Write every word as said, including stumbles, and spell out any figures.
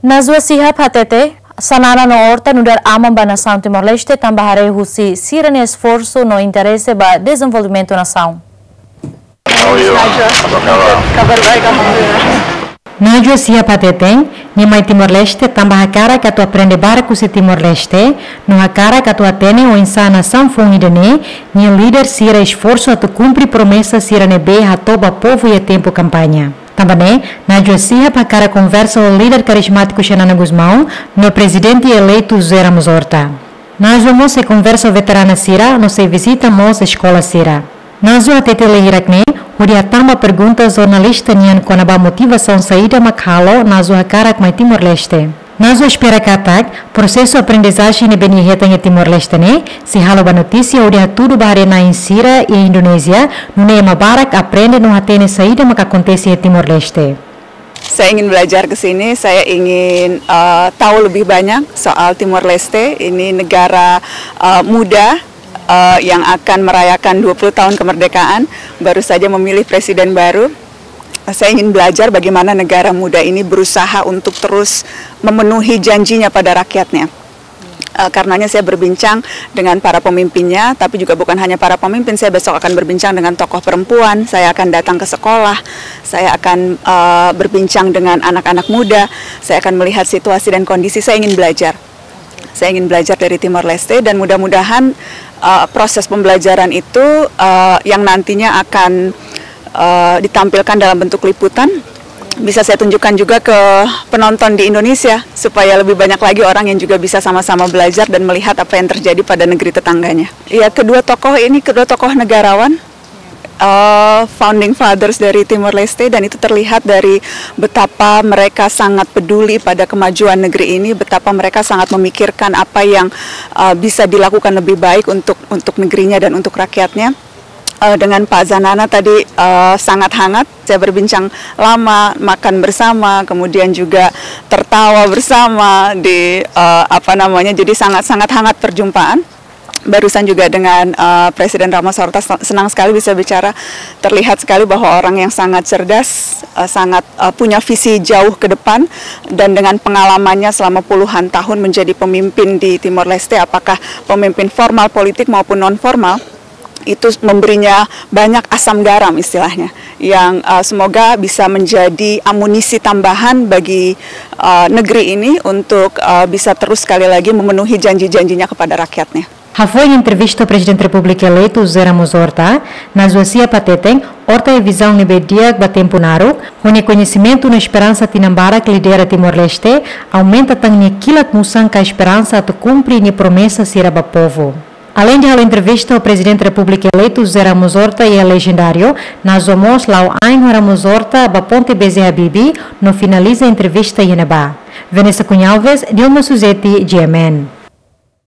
Najwa Shihab hateten, Xanana no Horta nu'udar aman ba nasaun Timor-Leste tanba haree husi sira-nia esforsu no interese ba dezenvolvimentu nasaun. Najwa Shihab hateten, nia mai Timor-Leste tanba hakarak atu aprende barak husi Timor-Leste, no hakarak atu hatene oinsá nasaun foun ida-ne'e nia líder sira esforsu atu kumpre promesa sira ne'ebé hato'o ba povu iha tempu kampaña. Tanba ne'e, Najwa Shihab hakarak konversa ho líder karizmátiku Xanana Gusmão no Prezidente eleitu José Ramos Horta. Najwa mós sei konversa ho veterana sira no sei vizita mós eskola sira. Najwa hatete lee hirak-ne'e hodi hatán ba pergunta jornalista nian kona-ba motivasaun saida mak halo Najwa hakarak mai Timor-Leste. Najwa espera katak prosesu aprendizajen ne'ebé nia hetan iha Timor-Leste ne'e sei halo ba notísia hodi hatudu ba haree-na'in sira iha Indonézia, nune'e ema barak aprende no hatene saida mak akontese iha Timor-Leste. Saya ingin belajar ke sini, saya ingin, eh, tahu lebih banyak soal Timor-Leste. Ini negara, eh, muda, eh, yang akan merayakan dua puluh tahun kemerdekaan, baru saja memilih presiden baru. Saya ingin belajar bagaimana negara muda ini berusaha untuk terus memenuhi janjinya pada rakyatnya. Eh, karenanya saya berbincang dengan para pemimpinnya, tapi juga bukan hanya para pemimpin, saya besok akan berbincang dengan tokoh perempuan, saya akan datang ke sekolah, saya akan, eh, berbincang dengan anak-anak muda, saya akan melihat situasi dan kondisi, saya ingin belajar. Saya ingin belajar dari Timor Leste dan mudah-mudahan, eh, proses pembelajaran itu, eh, yang nantinya akan, eh, ditampilkan dalam bentuk liputan, bisa saya tunjukkan juga ke penonton di Indonesia, supaya lebih banyak lagi orang yang juga bisa sama-sama belajar dan melihat apa yang terjadi pada negeri tetangganya. Ya, kedua tokoh ini, kedua tokoh negarawan, eh, founding fathers dari Timor Leste, dan itu terlihat dari betapa mereka sangat peduli pada kemajuan negeri ini, betapa mereka sangat memikirkan apa yang, eh, bisa dilakukan lebih baik untuk, untuk negerinya dan untuk rakyatnya. Eh, dengan Pak Xanana tadi, eh, sangat hangat. Saya berbincang lama, makan bersama, kemudian juga tertawa bersama di, eh, apa namanya, jadi sangat-sangat hangat perjumpaan. Barusan juga dengan, eh, Presiden Ramos Horta, sen-, senang sekali bisa bicara. Terlihat sekali bahwa orang yang sangat cerdas, eh, sangat, eh, punya visi jauh ke depan, dan dengan pengalamannya selama puluhan tahun menjadi pemimpin di Timor Leste, apakah pemimpin formal politik maupun non formal, itu memberinya banyak asam garam istilahnya, yang, eh, semoga bisa menjadi amunisi tambahan bagi, eh, negeri ini untuk, eh, bisa terus sekali lagi memenuhi janji-janjinya kepada rakyatnya. Hafoin entrevista ho Prezidente Repúblika eleitu José Ramos Horta, Najwa Shihab hateten, Horta iha vizaun ne'ebé di'ak ba tempu naruk, ho nia koñesimentu no esperansa tinan barak lidera Timor-Leste, aumenta tan nia kilat musan ka esperansa atu kumpre nia promesa sira ba povu. Aleinde halo entrevista ho Prezidente Repúblika eleitu José Ramos Horta iha Legendário, Najwa mós la'o ain ho Ramos Horta ba Ponte B J Habibie no finaliza entrevista iha ne'ebá. Vanessa Cunha Alves, Dilma Suzeti, G M N.